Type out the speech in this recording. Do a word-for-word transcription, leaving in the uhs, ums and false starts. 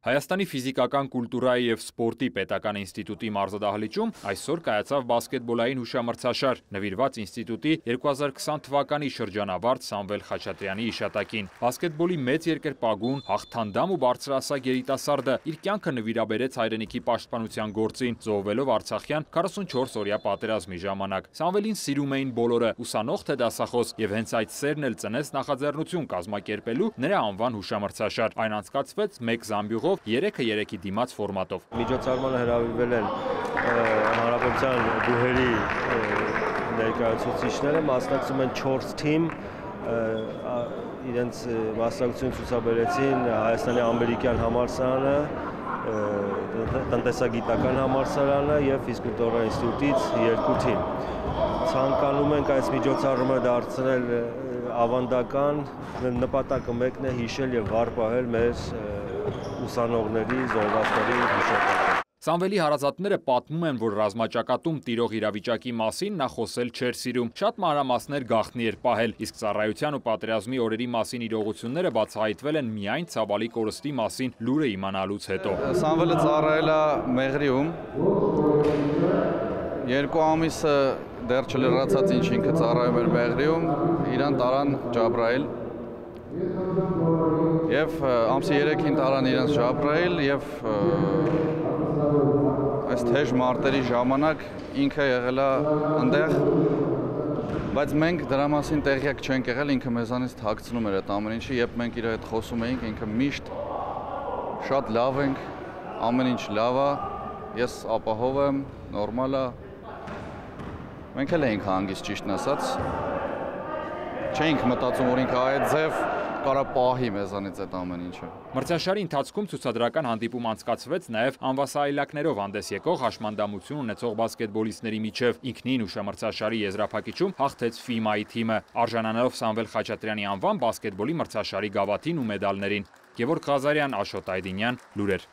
Հայաստանի ֆիզիկական կուլտուրայի և սպորտի պետական ինստիտուտի մարզադահլիճում այսօր կայացավ բասկետբոլային հուշամրցաշար, նվիրված ինստիտուտի երկու հազար քսան թվականի շրջանավարտ Սամվել Խաչատրյանի հիշատակին։ Բասկետբոլի մեծ երկրպագուն, հաղթանդամ ու բարձրահասակ երիտասարդը իր կյանքը նվիրաբերեց հայրենիքի պաշտպանության գործին, զոհվելով Արցախյան քառասունչորս օրյա պատերազմի ժամանակ։ Սամվելին սիրում էին բոլորը, ուսանող թե դասախոս, եւ հենց այդ սերն էլ ծնեց նախաձեռնություն կազմակերպելու նրա անվան հուշամրցաշար։ Այն անցկացվեց մեկ զամբյուղով երեքը երեքի դիմաց ֆորմատով։ Միջոցառմանը հրավիրվել են հանրապետության բուհերի ներկայացուցիչները, մասնակցում են չորս թիմ, իրենց մասնակցություն ցուցաբերեցին Հայաստանի ամերիկյան համալսարանը, տնտեսագիտական համալսարանը եւ ֆիզկուլտուրայի ինստիտուտից երկու թիմ։ Ցանկանում ենք այս միջոցառումը դարձնել ավանդական, նպատակը մեկն է հիշել եւ վառ պահել մեր ուսանողների, զոհվածների հիշատակը։ Սամվելի հարազատները պատմում են, որ ռազմաճակատում տիրող իրավիճակի մասին նա խոսել չէր սիրում, շատ մանրամասներ գաղտնի էր պահել, իսկ ծառայության ու պատերազմի օրերի մասին իրողությունները բացահայտվել են միայն ցավալի կորստի մասին լուրը իմանալուց հետո։ Սամվելը ծառայել է Մեղրիում, երկու ամիսը դեռ չլրացած ինչ ինքը ծառայում էր Մեղրիում, իրան տարան Ջաբրայել, եւ ամսի երեքին տարան իրենց Ջաբրայել եւ այս թեժ մարտերի ժամանակ ինքը եղել է այնտեղ, բայց մենք դրա մասին տեղյակ չենք եղել, ինքը մեզանից թաքցնում էր այդ ամեն ինչը, երբ մենք իր հետ խոսում էինք, ինքը միշտ շատ լավ ենք, ամեն ինչ լավ է, ես ապահով եմ, նորմալ է։ Մենք էլ էինք հանգիստ, ճիշտն ասած, չէինք մտածում, որ ինքը այդ ձև կարա պահի մեզանից այդ ամեն ինչը։ Մրցաշարի ընթացքում ցուցադրական հանդիպում անցկացվեց նաև անվասայլակներով հանդես եկող հաշմանդամություն ունեցող բասկետբոլիստների միջև։ Ինքնին հուշամրցաշարի եզրափակիչում հաղթեց Ֆիմայի թիմը, արժանանալով Սամվել Խաչատրյանի անվան բասկետբոլի մրցաշարի գավաթին ու մեդալներին։ Գևորգ Ղազարյան, Աշոտ Այդինյան, լուրեր։